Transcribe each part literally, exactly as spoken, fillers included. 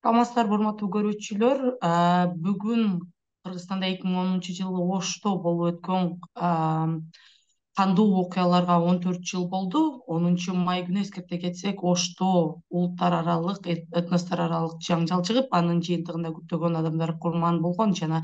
Саламатсыздарбы, урматтуу көрүүчүлөр. Бүгүн Кыргызстанда эки миң онунчу жылы Ошто болуп өткөн кандуу окуяларга он төрт жыл болду. онунчу май күнү эскерте кетсек, Ошто улуттар аралык, этностор аралык жаңжал чыгып, анын жыйынтыгында көптөгөн адамдар курман болгон жана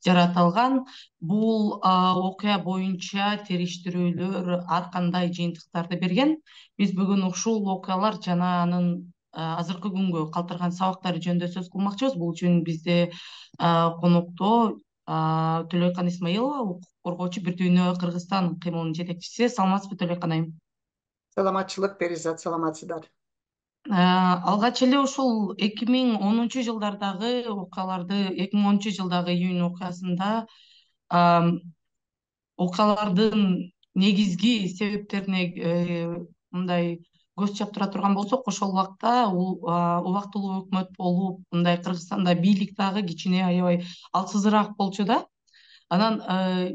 жаратылган. Бул окуя боюнча териштирүүлөр ар кандай жыйынтыктарды берген. Биз бүгүн ушул окуялар жана анын азыркы күнгө калтырган сабактары жөнүндө сөз кылмакчыбыз. Бул үчүн бизде конокто Төлөйкан Исмаилова, укук коргоочу, Бир дүйнө Кыргызстан кыймылынын жетекчиси. Саламатсызбы, Төлөйкан айым? Саламатчылык, Перизат, саламатсыздар. Алгач эле ушул эки миң онунчу жылдардагы окуяларды, эки миң онунчу жылдагы июнь окуясында окуялардын негизги себептерине мындай көз чаптыра турган болсок, ошол убакта убактылуу өкмөт болуп, мындай Кыргызстанда бийлик дагы кичине аябай алсызыраак болчу да. Анан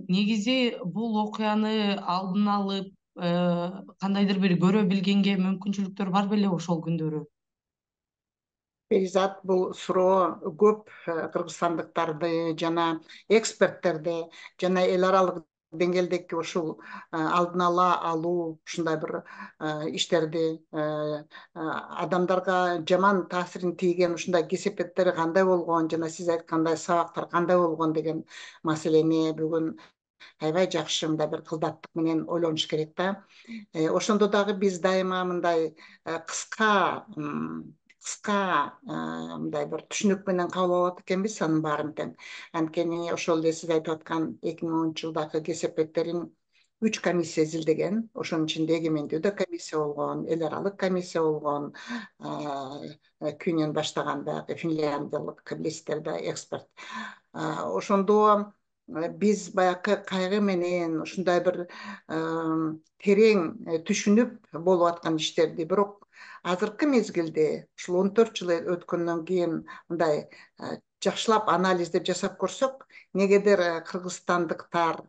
негизи бул окуяны алдын алып кандайдыр бир көрө билгенге мүмкүнчүлүктөр бар беле ошол күндөрү? Перизат, бул суроо көп кыргызстандыктарды жана эксперттерди жана эл аралык деңгээлдеги ушул алдын ала алуу ушундай бир иштерди адамдарга жаман таасирин тийген ушундай кесепеттери кандай болгон жана сиз айткандай сабактар кандай болгон деген маселени бүгүн аябай жакшы мындай бир кылдаттык менен ойлонуш керек да. Ошондо дагы биз дайыма мындай кыска кыска мындай бир түшүнүк менен кабыл алат экенбиз анын баарын тең. Анткени ошол эле сиз айтып аткан эки миң онунчу жылдагы кесепеттерин үч комиссия изилдеген. Ошонун ичинде эгемендүү да комиссия болгон, эл аралык комиссия болгон, Күнөн баштаган баягы финляндиялык билесиздер да, эксперт. Ошондо биз баягы кайгы менен ушундай бир терең түшүнүп болуп аткан иштерди, бирок азыркы мезгилде ушул он төрт жыл өткөндөн кийин мындай жакшылап анализдеп жасап көрсөк, негедир кыргызстандыктар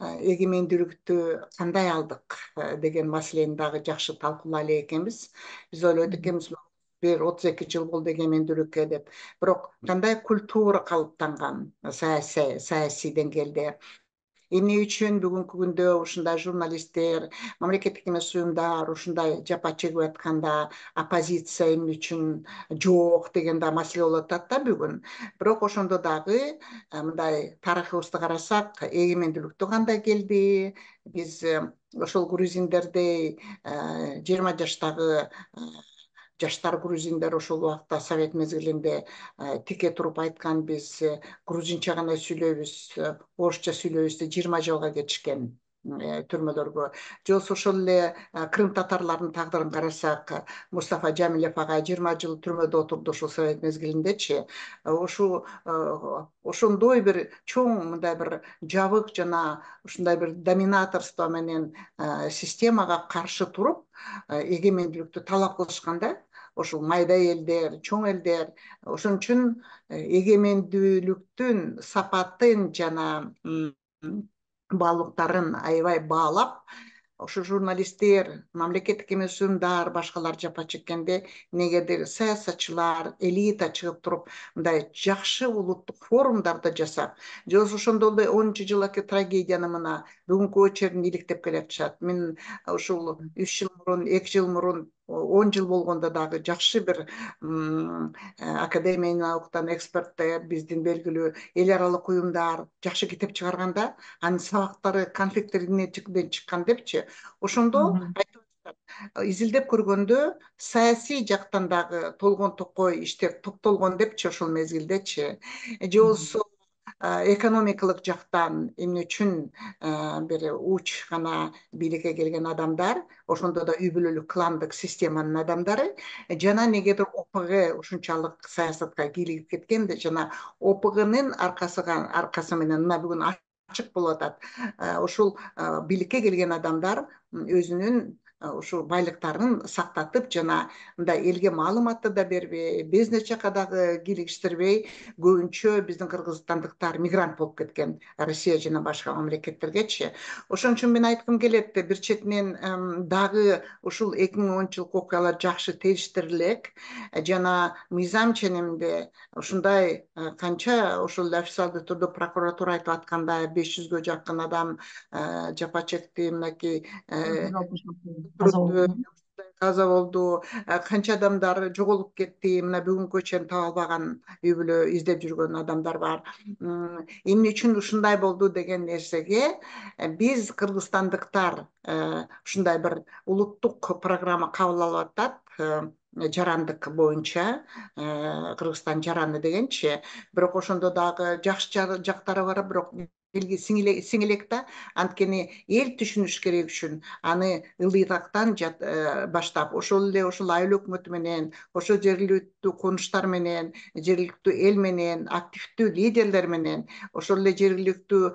эгемендүүлүктү кандай алдык деген маселени дагы жакшы талкуулай элек экенбиз. Биз ойлойт экенбиз, бир отуз эки жыл болду эгемендүүлүккө деп. Бирок кандай культура калыптанган саясий саясий деңгээлде, эмне үчүн бүгүнкү күндө ушундай журналисттер, мамлекеттик эмес уюмдар ушундай жапа чегип атканда оппозиция эмне үчүн жок деген да маселе болуп атат да бүгүн. Бирок ошондо дагы мындай тарыхыбызды карасак, эгемендүүлүктү кандай келди, биз ошол грузиндердей жыйырма жаштагы жаштар грузиндер ошол убакта совет мезгилинде тике туруп айткан, биз грузинче гана сүйлөйбүз, орусча сүйлөйбүз деп жыйырма жылга кетишкен түрмөлөргө. Же болбосо ошол эле крым татарларынын тагдырын карасак, Мустафа Жамилев агай жыйырма жыл түрмөдө отурду ошол совет мезгилиндечи. Ошо ошондой бир чоң мындай бир жабык жана ушундай бир доминаторство менен системага каршы туруп эгемендүүлүктү талап кылышканда, ошол майда элдер, чоң элдер. Ошон үчүн эгемендүүлүктүн сапатын жана баалуулуктарын аябай баалап, ошо журналисттер, мамлекеттик эмес уюмдар, башкалар жапа чеккенде, негедир саясатчылар, элита чыгып туруп, мындай жакшы улуттук форумдарды жасап, же болбосо ошондо эле онунчу жылкы трагедияны мына бүгүнкүгө чейин иликтеп келатышат. Мен ушул үч жыл мурун, эки жыл мурун, он жыл болгондо дагы жакшы бир академия науктан эксперттер, биздин белгилүү эл аралык уюмдар жакшы китеп чыгарганда, анын сабактары, конфекттери эмнеден чыккан депчи, ошондо изилдеп көргөндө саясий жактан дагы толгон токой иштер топтолгон депчи ошол мезгилдечи. Же болбосо экономикалык жактан эмне үчүн бир уч гана бийликке келген адамдар, ошондо да үй бүлөлүк кландык системанын адамдары, жана негедир О П Г ушунчалык саясатка кийлигип кеткенде, жана О П Гнын аркасыга аркасы менен мына бүгүн ачык болуп атат. Ошол бийликке келген адамдар өзүнүн ушул байлыктарын сактатып жана мындай элге маалыматты да бербей, бизнес жакка дагы киргиштирбей, көбүнчө биздин кыргызстандыктар мигрант болуп кеткен Россия жана башка мамлекеттергечи. Ошон үчүн мен айткым келет, бир четинен дагы ушул эки миң онунчу жылкы окуялар жакшы териштирилек жана мыйзам ченемде ушундай канча ушул официалдуу түрдө прокуратура айтып аткандай беш жүзгө жакын адам жапа чекти, мынакей каза болду, канча адамдар жоголуп кетти, мына бүгүнгө чейин таба албаган үй бүлө издеп жүргөн адамдар бар. Эмне үчүн ушундай болду деген нерсеге биз кыргызстандыктар ушундай бир улуттук программа кабыл алып атат, жарандык боюнча, Кыргызстан жараны дегенчи, бирок ошондо дагы жакшы жактары бар, бирок сиңелек да, анткени эл түшүнүш керек үчүн аны ылыйрактан баштап, ошол эле ошол айыл өкмөтү менен, ошол жергиликтүү конуштар менен, жергиликтүү эл менен, активдүү лидерлер менен, ошол эле жергиликтүү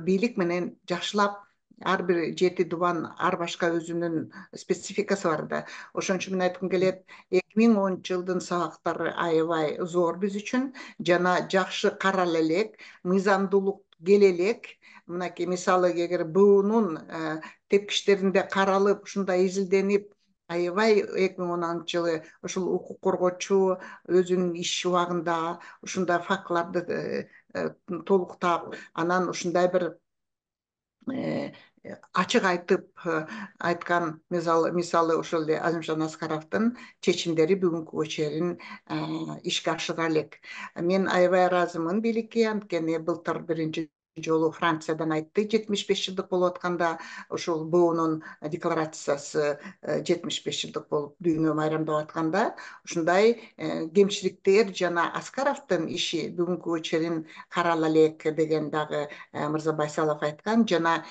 бийлик менен жакшылап ар бир жети дубан ар башка өзүнүн спецификасы бар да. Ошон үчүн мен айткым келет, эки миң онунчу жылдын сабактары аябай зор биз үчүн жана жакшы карала элек, мыйзамдуулук келе элек. Мынакей мисалы эгер буунун тепкичтеринде каралып, ушундай изилденип, аябай эки миң он алтынчы жылы ушул укук коргоочу өзүнүн иш убагында ушундай фактыларды толуктап, анан ушундай бир ачык айтып айткан, мисалы ошол эле Азимжан Аскаровдун чечимдери бүгүнкүгө чейин ишке ашыра элек. Мен аябай ыраазымын бийликке, анткени былтыр биринчи жолу Франциядан айтты, жетимиш беш жылдык болуп атканда ушул буунун декларациясы жетимиш беш жылдык болуп дүйнө майрамдап атканда ушундай кемчиликтер жана Аскаровдун иши бүгүнкүгө чейин карала элек деген дагы Мырза Байсалов айткан. Жана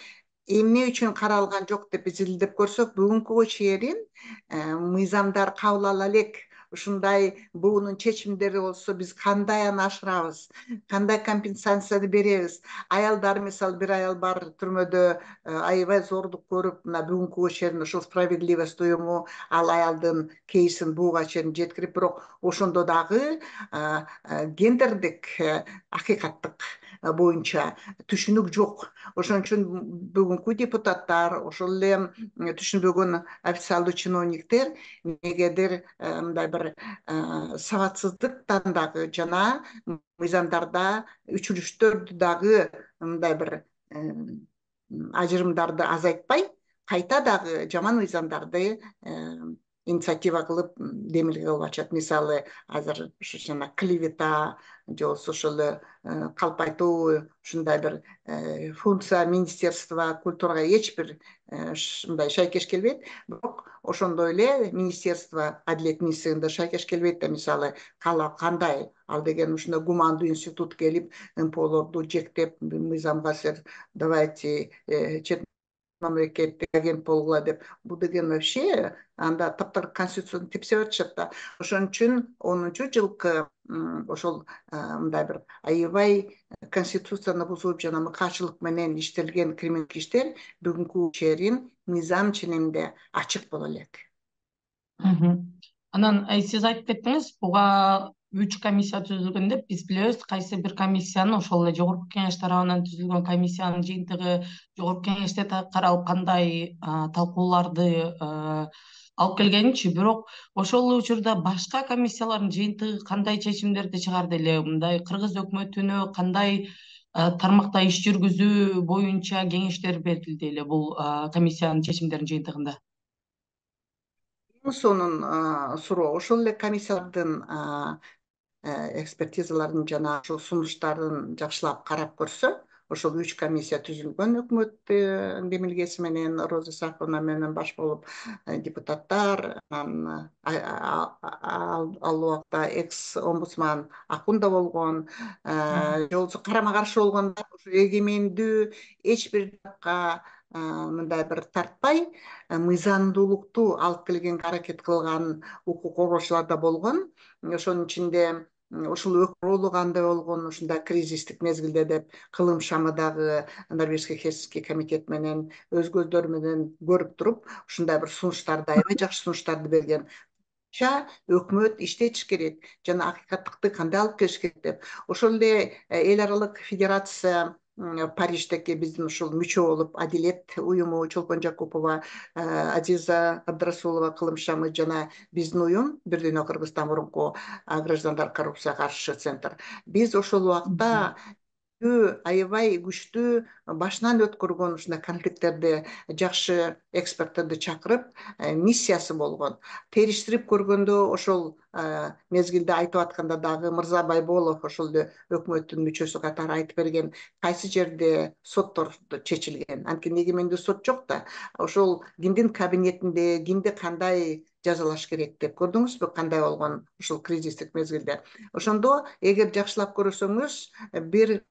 эмне үчүн каралган жок деп изилдеп көрсөк, бүгүнкүгө чейин мыйзамдар кабыл ала элек. Ушундай буунун чечимдери болсо биз кандай аны ашырабыз, кандай компенсацияны беребиз? Аялдар, мисалы бир аял бар түрмөдө, аябай зордук көрүп, мына бүгүнкүгө чейин ушул справедливость уюму ал аялдын кейсин буга чейин жеткирип, бирок ошондо дагы гендердик акыйкаттык боюнча түшүнүк жок. Ошон үчүн бүгүнкү депутаттар, ошол эле түшүнбөгөн официалдуу чиновниктер негедир мындай бир сабатсыздыктан дагы жана мыйзамдарда үчүрүштөрдү дагы мындай бир ажырымдарды азайтпай, кайта дагы жаман мыйзамдарды инициатива кылып демилге кылып ачат. Мисалы азыр ушу жана клевета же болбосо ошол калп айтуу ушундай бир функция Министерства культурага эч бир мындай шайкеш келбейт, бирок ошондой эле Министерство Адилет министрлигинде шайкеш келбейт да. Мисалы кандай ал деген ушундай гумандуу институт келип МПОлорду жектеп, мыйзамга силер давайте чет мамлекеттик агент болгула деп, бул деген вообще анда таптар конституцияны тепсе атышат да. Ошон үчүн онунчу жылкы ошол мындай бир аябай конституцияны бузуп жана мыкаачылык менен иштелген криминалдык иштер бүгүнкү чейин мыйзам ченемде ачык боло элек. Анан сиз айтып кеттиңиз, буга үч комиссия түзүлгөн деп. Биз билебиз, кайсы бир комиссиянын, ошол эле жогорку кеңеш тарабынан түзүлгөн комиссиянын жыйынтыгы жогорку кеңеште каралып кандай талкууларды алып келгенинчи, бирок ошол учурда башка комиссиялардын жыйынтыгы кандай чечимдерди чыгарды эле? Мындай кыргыз өкмөтүнө кандай тармакта иш жүргүзүү боюнча кеңештер берилди эле бул комиссиянын чечимдеринин жыйынтыгында? Сонун суроо. Ошол эле комиссиялардын экспертизаларын жана ошол сунуштарын жакшылап карап көрсө, ошол үч комиссия түзүлгөн өкмөттүн демилгеси менен, Роза Исаковна менен баш болуп депутаттар, анан ал убакта экс омбудсман Акун да болгон, же болбосо карама каршы болгондор эгемендүү эч бир жакка мындай бир тартпай, мыйзамдуулукту алып келгенге аракет кылган укук коргоочулар да болгон. Ошонун ичинде ушул ролу кандай болгон ушундай кризистик мезгилде деп кылым шамы дагы Норвежский Хельсинки комитет менен өзгөлөр менен көрүп туруп ушундай бир сунуштарды аябай жакшы сунуштарды берген. Өкмөт иштетиш керек жана акыйкаттыкты кандай алып келиш керек деп. Ошол эле эл аралык федерация Париждеги биздин ушул мүчө болуп Адилет уюму, Чолпон Жакупова, Азиза Абдрасулова кылым шамы жана биздин уюм Бир Дүйнө Кыргызстан мурунку граждандар коррупцияга каршы центр. Биз ошол убакта аябай күчтүү башынан өткөргөн ушундай конфликттерди жакшы эксперттерди чакырып миссиясы болгон. Териштирип көргөндө ошол мезгилде айтып атканда дагы Мырза Байболов ошол эле өкмөттүн мүчөсү катары айтып берген, кайсы жерде соттор чечилген, анткени эгемендүү сот жок да. Ошол кимдин кабинетинде кимди кандай жазалаш керек деп көрдүңүзбү, кандай болгон ушул кризистик мезгилде. Ошондо эгер жакшылап көрсөңүз бир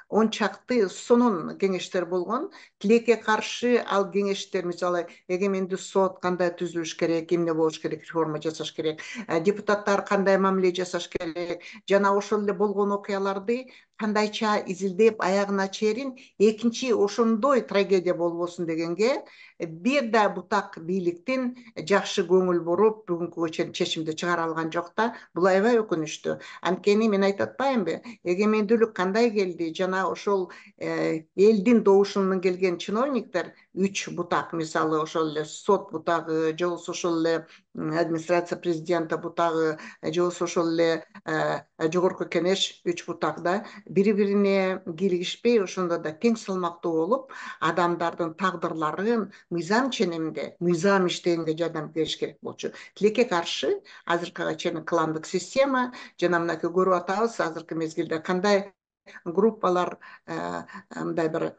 он чакты сонун кеңештер болгон. Тилекке каршы ал кеңештер, мисалы, эгемендүү сот кандай түзүлүш керек, эмне болуш керек, реформа жасаш керек, депутаттар кандай мамиле жасаш керек, жана ошол эле болгон окуяларды кандайча изилдеп аягына чейин экинчи ошондой трагедия болбосун дегенге бир да бутак бийликтин жакшы көңүл буруп бүгүнкүгө чейин чечимди чыгара алган жок да. Бул аябай өкүнүчтүү. Анткени мен айтып атпаймынбы, эгемендүүлүк кандай келди жана ошол элдин добушунан келген чиновниктер үч бутак, мисалы ошол эле сот бутагы, же болбосо ошол эле администрация президента бутагы, же болбосо ошол эле жогорку кеңеш үч бутак да, бири-бирине кийлигишпей ошондо да тең салмактуу болуп, адамдардын тагдырларын мыйзам ченеминде, мыйзам иштегенге жардам бериш керек болчу. Тилекке каршы азыркыга чейин кландык система жана мынакей көрүп атабыз азыркы мезгилде кандай группалар мындай бир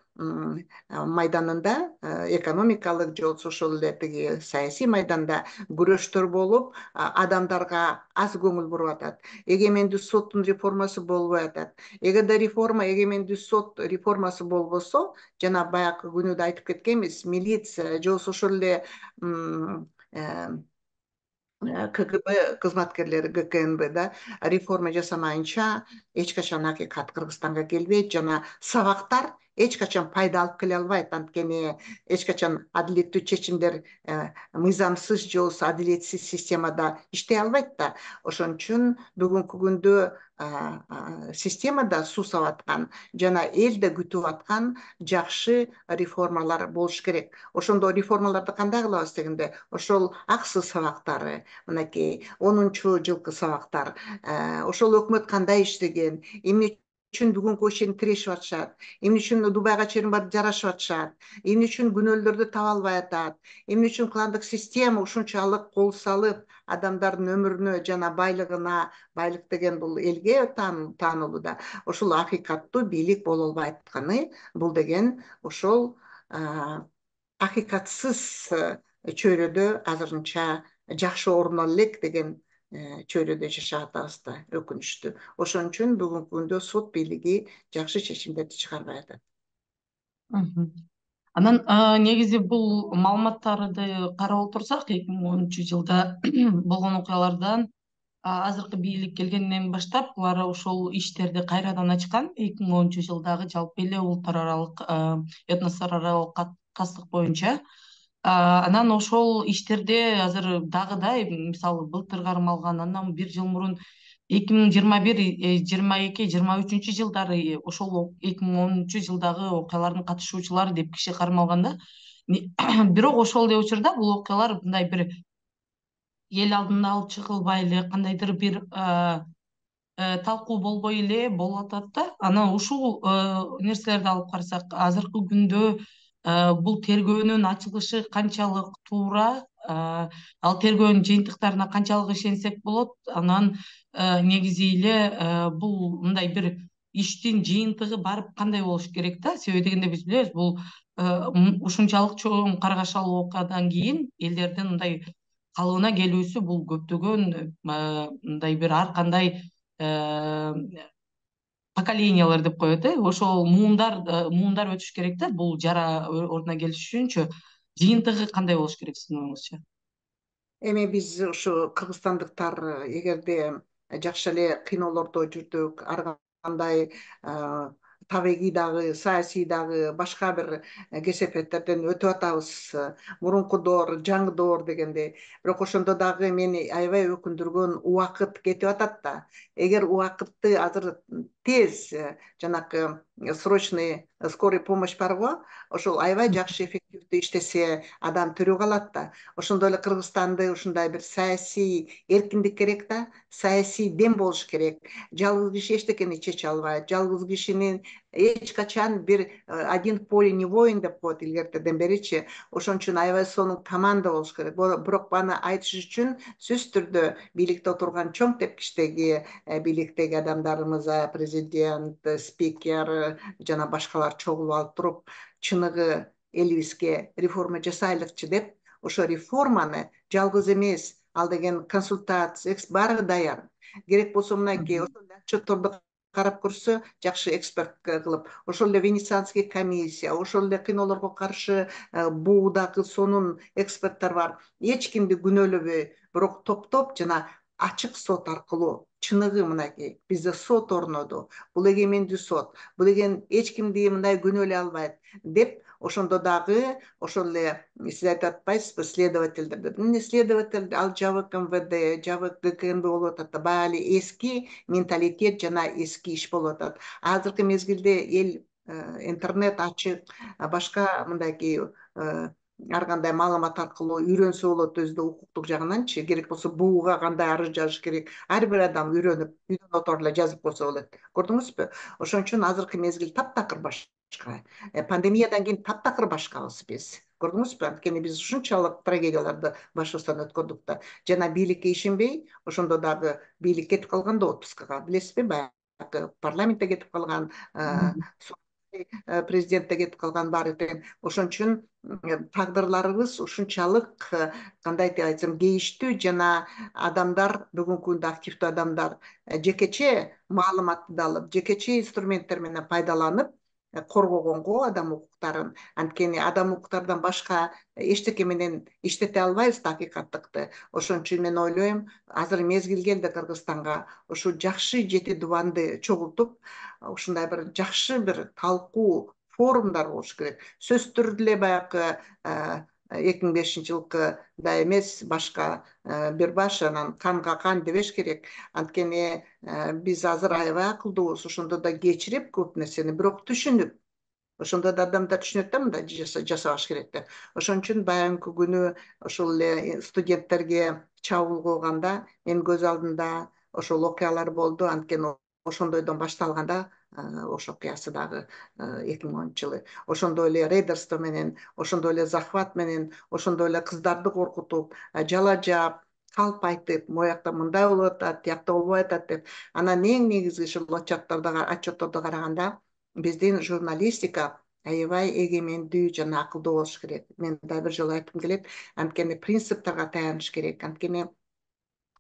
майданында, экономикалык же болбосо ошол эле тиги саясий майданда күрөштөр болуп, адамдарга аз көңүл буруп атат. Эгемендүү соттун реформасы болбой атат. Эгерде реформа, эгемендүү сот реформасы болбосо, жана баягы күнү да айтып кеткенбиз, милиция же болбосо ошол эле КГБ кызматкерлери, ГКНБ да реформа жасамайынча эч качан акыйкат Кыргызстанга келбейт жана сабактар эч качан пайда алып келе албайт. Анткени эч качан адилеттүү чечимдер мыйзамсыз же болбосо адилетсиз системада иштей албайт да. Ошон үчүн бүгүнкү күндө системада суу аткан жана эл да күтүп аткан жакшы реформалар болуш керек. Ошондо реформаларды кандай кылабыз дегенде, ошол аксыз сабактары, мынакей онунчу жылкы сабактар, ошол өкмөт кандай иштеген, эмне үчүн бүгүнкү чейин тирешип атышат, эмне үчүн Дубайга чейин барып жарашып атышат, эмне үчүн күнөөлөрдү таба албай атат, эмне үчүн кландык система ушунчалык кол салып адамдардын өмүрүнө жана байлыгына, байлык деген бул элге таанылуу да, ошол акыйкаттуу бийлик боло албай атканы, бул деген ошол акыйкатсыз чөйрөдө азырынча жакшы орун ала элек деген чөйрөдө жашап атабыз да, өкүнүчтүү. Ошон үчүн бүгүнкү күндө сот бийлиги жакшы чечимдерди чыгарбай атат. Анан негизи бул маалыматтарды карап отурсак, эки миң онунчу жылда болгон окуялардан азыркы бийлик келгенден баштап булар ошол иштерди кайрадан ачкан. эки миң онунчу жылдагы жалпы эле улуттар аралык, этностор аралык каттык боюнча. Анан ошол иштерде азыр дагы да, мисалы былтыр кармалган, андан бир жыл мурун эки миң жыйырма бир, жыйырма эки, жыйырма үчүнчү жылдары ошол эки миң онунчу жылдагы окуялардын катышуучулары деп киши кармалган да. Бирок ошол эле учурда бул окуялар мындай бир эл алдына алып чыгылбай эле, кандайдыр бир талкуу болбой эле болуп атат да. Анан ушул нерселерди алып карасак, азыркы күндө бул тергөөнүн ачылышы канчалык туура, ал тергөөнүн жыйынтыктарына канчалык ишенсек болот. Анан негизи эле бул мындай бир иштин жыйынтыгы барып кандай болуш керек да. Себеби дегенде биз билебиз, бул ушунчалык чоң каргашалуу окуядан кийин элдердин мындай калыбына келүүсү бул көптөгөн мындай бир ар кандай поколениялар деп коет, ошол муундар муундар өтүш керек да, бул жара ордуна келиш үчүнчү жыйынтыгы кандай болуш керек сиздин оюңузча? Эми биз ушу кыргызстандыктар эгерде жакшы эле кыйноолордо жүрдүк, ар кандай табигый дагы, саясий дагы башка бир кесепеттерден өтүп атабыз. Мурункудор, жаңыдор дегендей. Бирок ошондо дагы мени аябай өкүндүргөн убакыт кетип атат да. Эгер убакытты азыр тез жанакы срочный скорый помощь барго, ошол аябай жакшы эффективдүү иштесе, адам тирүү калат да. Ошондой эле Кыргызстанды ушундай бир саясий эркиндик керек да, саясий дем болуш керек. Жалгыз киши эчтекени чече албайт. Жалгыз кишинин эч качан бир один в поле не воин деп коет илгертеден беричи. Ошон үчүн аябай сонун команда болуш керек. Бирок баны айтыш үчүн сөзсүз түрдө бийликте отурган чоң тепкичтеги бийликтеги адамдарыбыз, президент, спикер жана башкалар чогулуп алып туруп, чыныгы элибизге реформа жасайлыкчы деп, ошо реформаны жалгыз эмес, ал деген консультация, баары даяр. Керек болсо мынакей ошол отчетторду карап көрсө, жакшы эксперт кылып, ошол эле Венецианский комиссия, ошол эле кыйноолорго каршы буу дагы сонун эксперттер бар. Эч кимди күнөөлөбөй, бирок топтоп жана ачык сот аркылуу, чыныгы мынакей бизде сот орноду. Бул эгемендүү сот. Бул деген эч кимди мындай күнөөлөй албайт деп, ошондо дагы ошол эле сиз айтып атпайсызбы, следовательдер деп. Эмне следователь, ал жабык эм вэ дэ, жабык гэ ка эм бэ болуп атат да. Баягы эле эски менталитет жана эски иш болуп атат. Азыркы мезгилде эл интернет ачык, башка мындайки ар кандай маалымат аркылуу үйрөнсө болот өзү да укуктук жагынанчы. Керек болсо бууга кандай арыз жазыш керек, ар бир адам үйрөнүп, үйдөн отуруп эле жазып койсо болот. Көрдүңүзбү? Ошон үчүн азыркы мезгил таптакыр башка. Пандемиядан кийин таптакыр башкабыз биз. Көрдүңүзбү? Анткени биз ушунчалык трагедияларды башыбыздан өткөрдүк да. Жана бийликке ишенбей, ошондо дагы бийлик кетип калган да отпускага. Билесизби, баягы парламентте кетип калган, президентте кетип калган баары тең. Ошон үчүн тагдырларыбыз ушунчалык, кандай деп айтсам, кейиштүү жана адамдар, бүгүнкү күндө активдүү адамдар жекече маалыматты алып, жекече инструменттер менен пайдаланып коргогонго адам укуктарын. Анткени адам укуктардан башка эчтеке менен иштете албайбыз да акыйкаттыкты. Ошон үчүн мен ойлойм, азыр мезгил келди Кыргызстанга ушу жакшы жети дубанды чогултуп, ушундай бир жакшы бир талкуу форумдар болуш керек. Сөзсүз түрдө эле баягы эки миң бешинчи жылкыдай эмес, башка бир баш анан канга кан дебеш керек. Анткени биз азыр аябай акылдуубуз, ошондо да кечирип көп нерсени, бирок түшүнүп, ошондо да адамдар түшүнөт да мындай жасабаш керек деп. Ошон үчүн баягы күнү ошол эле студенттерге чабуул кылганда менин көз алдымда ошол окуялар болду. Анткени ошондойдон башталганда ошол окуясы дагы эки миң онунчу жылы. Ошондой эле рейдерство менен, ошондой эле захват менен, ошондой эле кыздарды коркутуп, жала жаап, калп айтып, моякта мындай болуп атат, тиякта болбой атат деп. Анан эң негизги ушул отчетторду караганда, биздин журналистика аябай эгемендүү жана акылдуу болуш керек. Мен дагы бир жолу айткым келет, анткени принциптерге таяныш керек. Анткени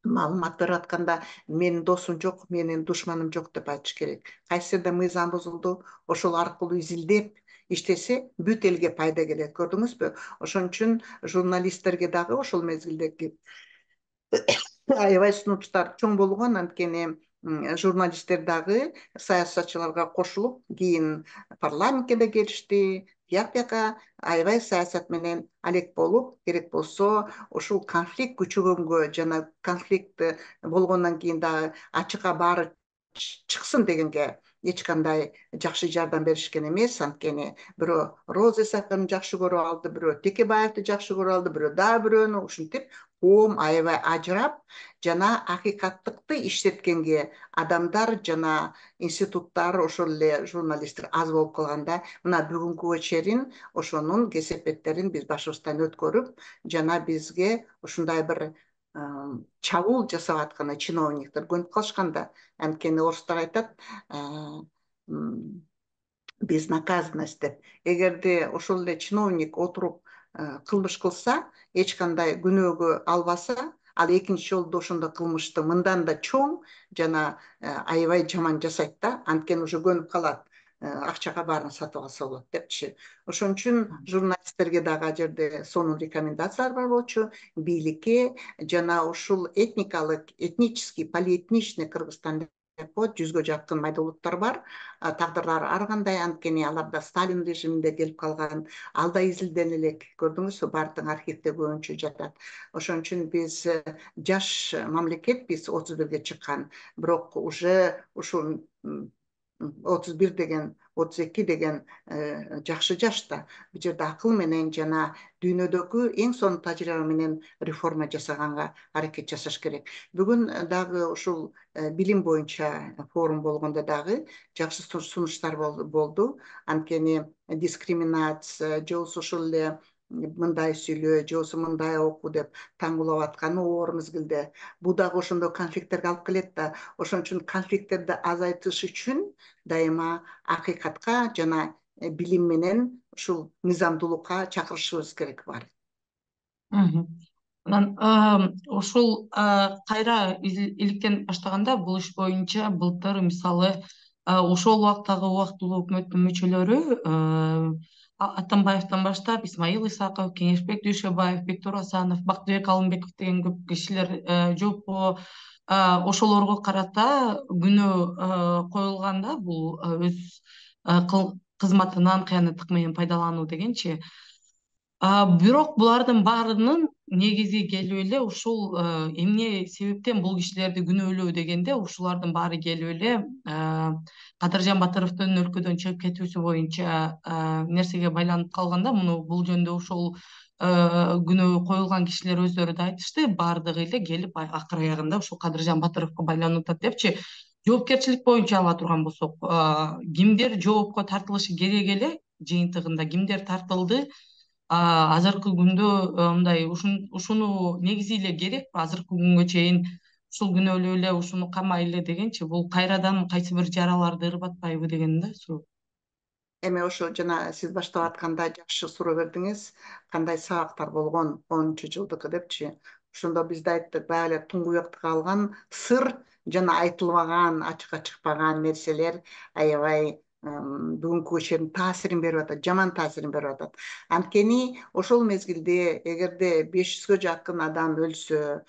маалымат берип атканда менин досум жок, менин душманым жок деп айтыш керек. Кайсы жерде мыйзам бузулду, ошол аркылуу изилдеп иштесе, бүт элге пайда келет. Көрдүңүзбү? Ошон үчүн журналисттерге дагы ошол мезгилдеги аябай сунуштар чоң болгон. Анткени журналисттер дагы саясатчыларга кошулуп, кийин парламентке да келишти. Тияк бияка аябай саясат менен алек болуп, керек болсо ушул конфликт күчөгөнгө жана конфликт болгондон кийин дагы ачыкка баары чыксын дегенге эч кандай жакшы жардам беришкен эмес. Анткени бирөө Роза Исаковну жакшы көрүп алды, бирөө Текебаевди жакшы көрүп алды, бирөө дагы бирөөнү, ушинтип коом аябай ажырап жана акыйкаттыкты иштеткенге адамдар жана институттар, ошол эле журналисттер аз болуп калганда, мына бүгүнкүгө чейин ошонун кесепеттерин биз башыбыздан өткөрүп, жана бизге ушундай бир чабуул жасап аткан чиновниктер көнүп калышканда. Анткени орустар айтат, безнаказанность деп. Эгерде ошол эле чиновник отуруп кылмыш кылса, эч кандай күнөөгө албаса, ал экинчи жолду ошондо кылмышты мындан да чоң жана аябай жаман жасайт да. Анткени уже көнүп калат. акчага баарын сатып алса болот депчи. Ошон үчүн журналисттерге дагы ал жерде сонун рекомендациялар бар болчу. Бийликке жана ушул этникалык, этнический, полиэтничный Кыргызстан деп коет, жүзгө жакын майда улуттар бар. Тагдырлары ар кандай, анткени алар да Сталин режиминде келип калган. Ал да изилден элек, көрдүңүзбү, баардык архивде көбүнчө жатат. Ошон үчүн биз жаш мамлекетпиз, отуз бирге чыккан, бирок уже ушул отуз бир деген, отуз эки деген жакшы жашта. Бул жерде акыл менен жана дүйнөдөгү эң сонун тажрыйба менен реформа жасаганга аракет жасаш керек. Бүгүн дагы ушул билим боюнча форум болгондо дагы жакшы сунуштар болду. Анткени дискриминация, же болбосо ушул эле мындай сүйлөө, же болбосо мындай оку деп таңгулап атканы оор мезгилде. Бул дагы ошондой конфликттерге алып келет да. Ошон үчүн конфликттерди азайтыш үчүн дайыма акыйкатка жана билим менен ушул мыйзамдуулукка чакырышыбыз керек бар. Анан ушул кайра иликтен баштаганда бул иш боюнча былтыр мисалы ошол убактагы убактылуу өкмөттүн мүчөлөрү Атамбаевден баштап Исмаил Исаков, Кеңешбек Дүйшөбаев, Бектур Асанов, Бактыбек Алымбеков деген көп кишилер жолпо ошолорго карата күнөө коюлганда бул өз кызматынан кыянаттык менен пайдалануу дегенчи. Бирок булардын баарынын негизи келип эле ушул эмне себептен бул кишилерди күнөөлөө дегенде ушулардын баары келип эле Кадыржан Батыровдун өлкөдөн чыгып кетүүсү боюнча нерсеге байланып калганда, муну бул жөнүндө ушул күнөө коюлган кишилер өздөрү да айтышты, баардыгы эле келип акыр аягында ушул Кадыржан Батыровго байланып атат депчи. Жоопкерчилик боюнча ала турган болсок, кимдер жоопко тартылышы керек эле, жыйынтыгында кимдер тартылды? Азыркы күндө мындай ушуну негизи эле керек, азыркы күнгө чейин ушул күнөөлөө эле, ушуну камайлы дегенчи, бул кайрадан кайсы бир жараларды ырбатпайбы деген да суроо. Эми ошо жана сиз баштап атканда жакшы суроо бердиңиз, кандай сабактар болгон онунчу жылдыкы депчи. Ошондо биз да айттык, баягы эле туңгуякта калган сыр жана айтылбаган, ачыкка чыкпаган нерселер аябай бүгүнкү чейин таасирин берип атат, жаман таасирин берип атат. Анткени ошол мезгилде эгерде беш жүзгө жакын адам өлсө,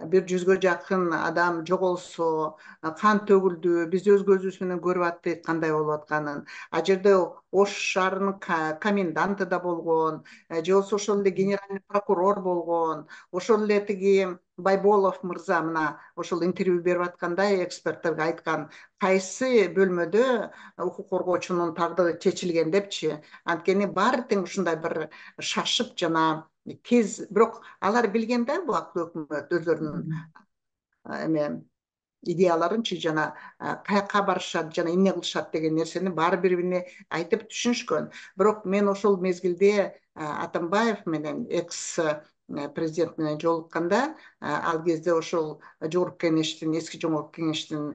бир жүзгө жакын адам жоголсо, кан төгүлдү, биз өз көзүбүз менен көрүп аттык кандай болуп атканын. А жерде Ош шаарынын коменданты да болгон, же болбосо ошол эле генеральный прокурор болгон, ошол эле тиги Байболов мырза мына ошол интервью берип атканда эксперттерге айткан, кайсы бөлмөдө укук коргоочунун тагдыры чечилген депчи. Анткени баары тең ушундай бир шашып жана тез, бирок алар билген да, бул өкмөт өздөрүнүн эме идеяларынчы жана каяка барышат жана эмне кылышат деген нерсени баары бири бирине айтып түшүнүшкөн. Бирок мен ошол мезгилде Атамбаев менен экс президент менен жолукканда, ал кезде ошол жогорку кеңештин, эски жогорку кеңештин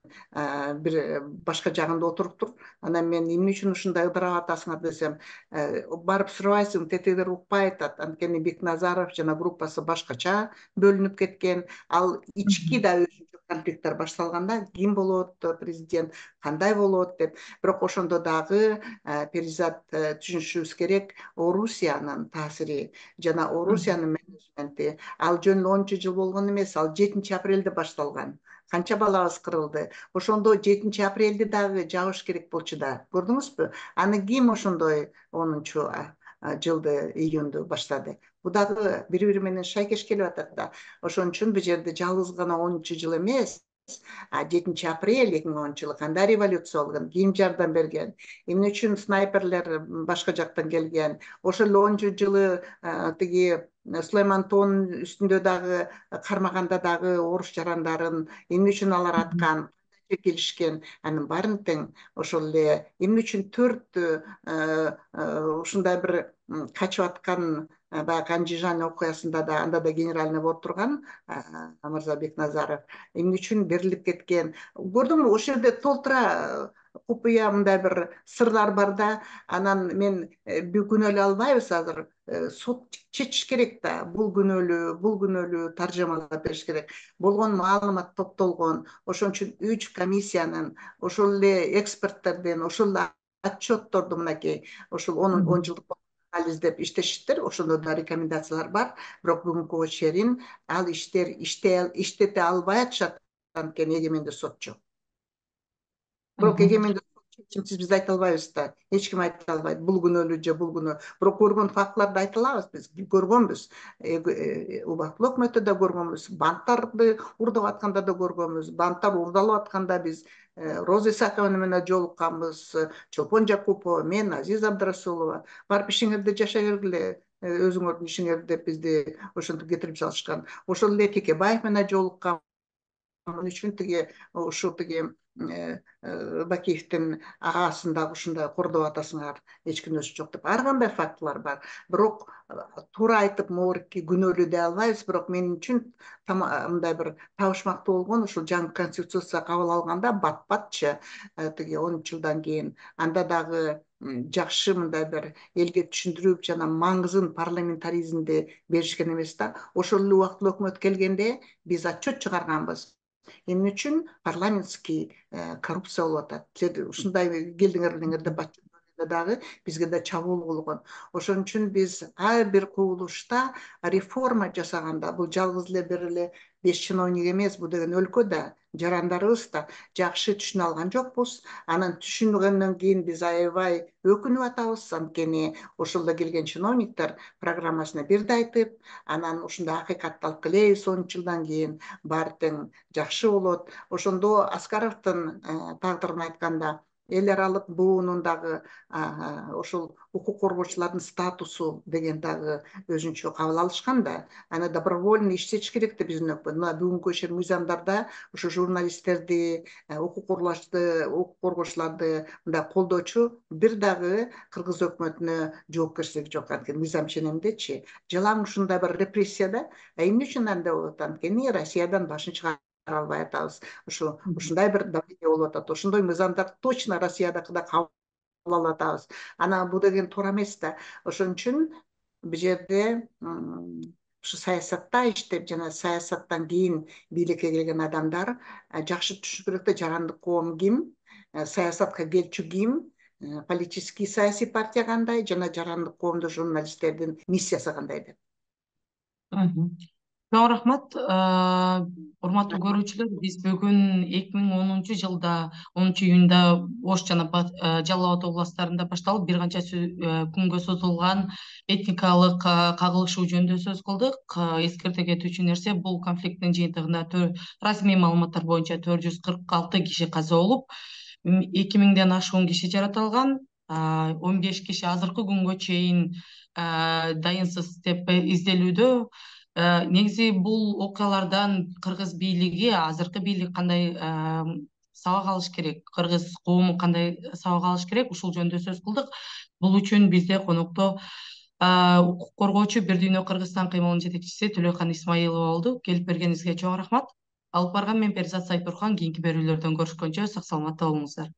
бир башка жагында отуруптур. Анан мен эмне үчүн ушундай ыдырап атасыңар десем, барып сурабайсың, тетигилер укпай атат. Анткени Бекназаров жана группасы башкача бөлүнүп кеткен. Ал ички да өзүнчө конфликттер башталганда ким болот президент, кандай болот деп. Бирок ошондо дагы Перизат түшүнүшүбүз керек, Орусиянын таасири жана Орусиянын менеджменти ал жөн эле онунчу жыл болгон эмес, ал жетинчи апрелде башталган. Канча балабыз кырылды. Ошондо жетинчи апрелде дагы жабыш керек болчу да. Көрдүңүзбү? Аны ким ошондой онунчу жылды июнду баштады? Бул дагы бири-бири менен шайкеш келип атат да. Ошон үчүн бул жерде жалгыз гана онунчу жыл эмес, жетинчи апрель эки миң онунчу жылы кандай революция болгон, ким жардам берген, эмне үчүн снайперлер башка жактан келген, ошол эле онунчу жылы тиги Сулайман тоонун үстүндө дагы кармаганда дагы орус жарандарын эмне үчүн алар аткан, кантип келишкен, анын баарын тең ошол эле эмне үчүн төрт ушундай бир качып аткан баягы Андижан окуясында да, анда да генеральный болуп турган мырза Бекназаров эмне үчүн берилип кеткен. Көрдүңбү, ошол жерде толтура купуя мындай бир сырлар бар да, анан мен бүт күнөөлөй албайбыз азыр. Сот чечиш керек да, бул күнөөлүү, бул күнөөлүү таржымалап бериш керек. Болгон маалымат топтолгон, ошон үчүн үч комиссиянын, ошол эле эксперттердин, ошол эле отчетторду мынакей ошол он жылдык анализдеп иштешиптир. Ошондо да рекомендациялар бар. Бирок бүгүнкүгө чейин ал иштер иштете албай атышат анткени эгемендүү сотчу. Бирок эгемендүү чечимсиз биз айта албайбыз да. Эч ким айта албайт. Бул күнөөлүү же бул күнөө. Бирок көргөн фактыларды айта алабыз биз. Көргөнбүз. Убактылуу өкмөттө да көргөнбүз. Банттарды урдап атканда да көргөнбүз. Банттар урдалып атканда биз Роза Исаковна менен жолукканбыз. Чолпон Жакупова, мен, Азиза Абдрасулова. Барып ишиңерди жашай бергиле, өзүңөрдүн ишиңерди деп бизди ошентип кетирип салышкан. Ошол эле Текебаев менен жолуккан үчүн тиги ушу тиги Бакиевдин агасын дагы ушундай кордоп атасыңар, эч күнөөсү жок деп. Ар кандай фактылар бар. Бирок туура айтып, могуки күнөөлүү дей албайбыз. Бирок мен үчүн мындай бир табышмактуу болгон ушул жаңы конституция кабыл алганда бат-батчы тиги он үч жылдан кийин анда дагы жакшы мындай бир элге түшүндүрүп жана маңызын парламентаризмди беришкен эмес да. Ошол эле убактылуу өкмөт келгенде биз отчет чыгарганбыз. Эмне үчүн парламентский коррупция болуп атат. Силер ушундай келдиңер элеңер деп атча дагы бизге да чабуул болгон. Ошон үчүн биз ар бир кубулушта реформа жасаганда, бул жалгыз эле бир эле беш чиновник эмес, бул деген өлкө да, жарандарыбыз да жакшы түшүнө алган жокпуз. Анан түшүнгөндөн кийин биз аябай өкүнүп атабыз, анткени ошолдо келген чиновниктер программасына бирди айтып, анан ушундай акыйкатты алып келебиз он үч жылдан кийин баары тең жакшы болот. Ошондо Аскаровдун тагдырын айтканда эл аралык буунун дагы ошол укук коргоочулардын статусу деген дагы өзүнчө кабыл алышкан да. Аны добровольно иштетиш керек да биздин өкмөт. Мына бүгүнкү ишер мыйзамдарда ушу журналисттерди, укук коргоочуларды мындай колдоочу бир дагы кыргыз өкмөтүнө жоопкерчилиги жок. Анткени мыйзам ченемдечи жалаң ушундай бир репрессия да. Эмне үчүн андай болот? Анткени Россиядан башын чыгара албай атабыз. Ушу ушундай бир давление болуп атат. Ошондой мыйзамдар точно Россиядакы да кабыл алып атабыз. Анан бул деген туура эмес да. Ошон үчүн бул жерде ушу саясатта иштеп жана саясаттан кийин бийликке келген адамдар жакшы түшүнүш керек да, жарандык коом ким, саясатка келчү ким, политический саясий партия кандай жана жарандык коомдо журналисттердин миссиясы кандай деп. Чоң рахмат. Урматтуу көрүүчүлөр, биз бүгүн эки миң онунчу жылда онунчу июнда Ош жана Жалал Абад областарында башталып бир канча күнгө созулган этникалык кагылышуу жөнүндө сөз кылдык. Эскерте кетүүчү нерсе, бул конфликттин жыйынтыгында расмий маалыматтар боюнча төрт жүз кырк алты киши каза болуп, эки миңден ашуун киши жаратылган, он беш киши азыркы күнгө чейин дайынсыз деп изделүүдө. Негизи бул окуялардан кыргыз бийлиги, азыркы бийлик кандай сабак алыш керек, кыргыз коому кандай сабак алыш керек, ушул жөнүндө сөз кылдык. Бул үчүн бизде конокто укук коргоочу Бир Дүйнө Кыргызстан кыймылынын жетекчиси Төлөкан Исмаилова болду. Келип бергениңизге чоң рахмат. Алып барган мен Перизат Сайтурхан. Кийинки берүүлөрдөн көрүшкөнчө сак саламатта болуңуздар.